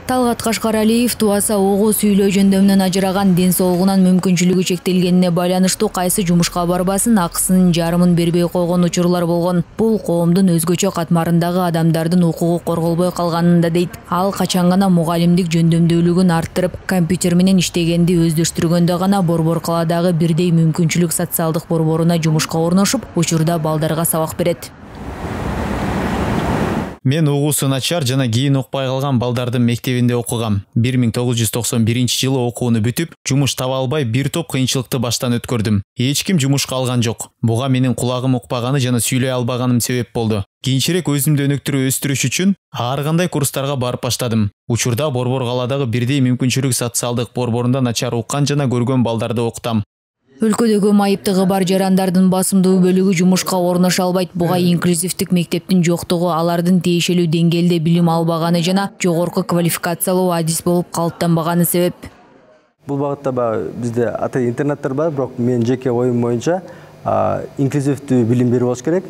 Талгат Кашкаралиев туаса огу сүйлөө жөндөмүнөн ажыраган, ден соолугунан мүмкүнчүлүгү чектелгенине байланыштуу кайсы жумушка барбасын, акысынын жарымын бербей койгон учурлар болгон. Бул коомдун өзгөчө катмарындагы адамдардын укугу корголбой калганында дейт. Ал качан гана мугалимдик жөндөмдүүлүгүн арттырып, компьютер менен иштегенди өздөштүргөндө гана Борбор калаадагы бирдей мүмкүнчүлүк социалдык борборуна жумушка орношуп, учурда балдарга сабак берет. Мен угуусу начар жана кийин укпай калган балдардын мектебинде окугам. 1991-жылы окууну бүтүп, жумуш таба албай бир топ кыйынчылыкты баштан өткөрдүм. Эч ким жумушка алган жок. Буга менин кулагым укпаганы жана сүйлөй албаганым себеп болду. Кийинчерээк өзүмдү өнүктүрүп өстүрүш үчүн ар кандай курстарга барып баштадым. Учурда Борбор калаадагы бирдей мүмкүнчүлүк социалдык борборунда начар уккан жана көргөн балдарды окутам. Өлкөдөгү майыптыгы бар жарандардын басымдуу бөлүгү жумушка орношо албайт. Буга инклюзивдик мектептин жоктугу, алардын тиешелүү деңгээлде билим албаганы жана жогорку квалификациялуу адис болуп калыптанбаганы себеп. Бул багытта бизде интернаттар бар, бирок мен жеке оюм боюнча инклюзивдүү билим берүү болуш керек.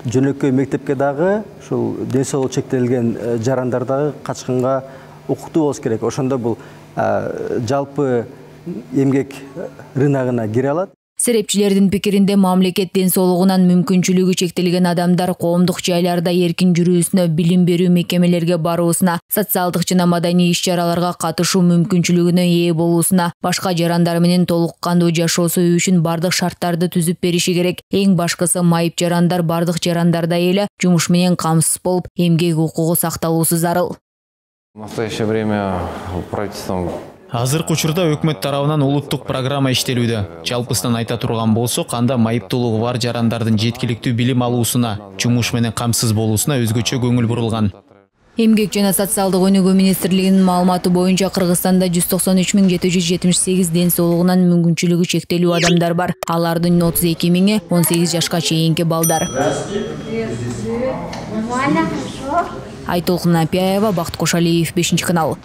Жөнөкөй мектепке дагы ушул ден соолугу чектелген жарандар дагы качкынга укуктуу болуш керек. Ошондо бул жалпы эмгек рыногуна кире алат. Серепчилердин пикиринде, мамлекет ден соолугунан мүмкүнчүлүгү чектелген адамдар коомдук жайларда эркин жүрүүсүнө, билим берүү мекемелерге баруусуна, социалдык жана маданий иш-чараларга катышуу мүмкүнчүлүгүнө ээ болуусуна, башка жарандар менен толук кандуу жашоосу үчүн бардык шарттарды түзүп бериши керек. Эң башкысы, майып жарандар бардык жарандардай эле жумуш менен камсыз болуп, эмгек укугу сакталуусу зарыл. В настоящее время правительством Азыркы учурда өкмөт тарабынан улуттук программа иштелүүдө. Жалпысынан айта турган болсок, анда майыптуулугу бар жарандардын жеткиликтүү билим алуусуна, жумуш менен камсыз болуусуна өзгөчө көңүл бурулган. Эмгек жана социалдык өнүгүү министрлигинин маалыматы боюнча, Кыргызстанда 193.778 ден соолугунан мүмкүнчүлүгү чектелүү адамдар бар. Алардын 32.000-и 18 жашка чейинки балдар. Айтолкун Апиаева, Бакыт Кошалиев, 5 канал.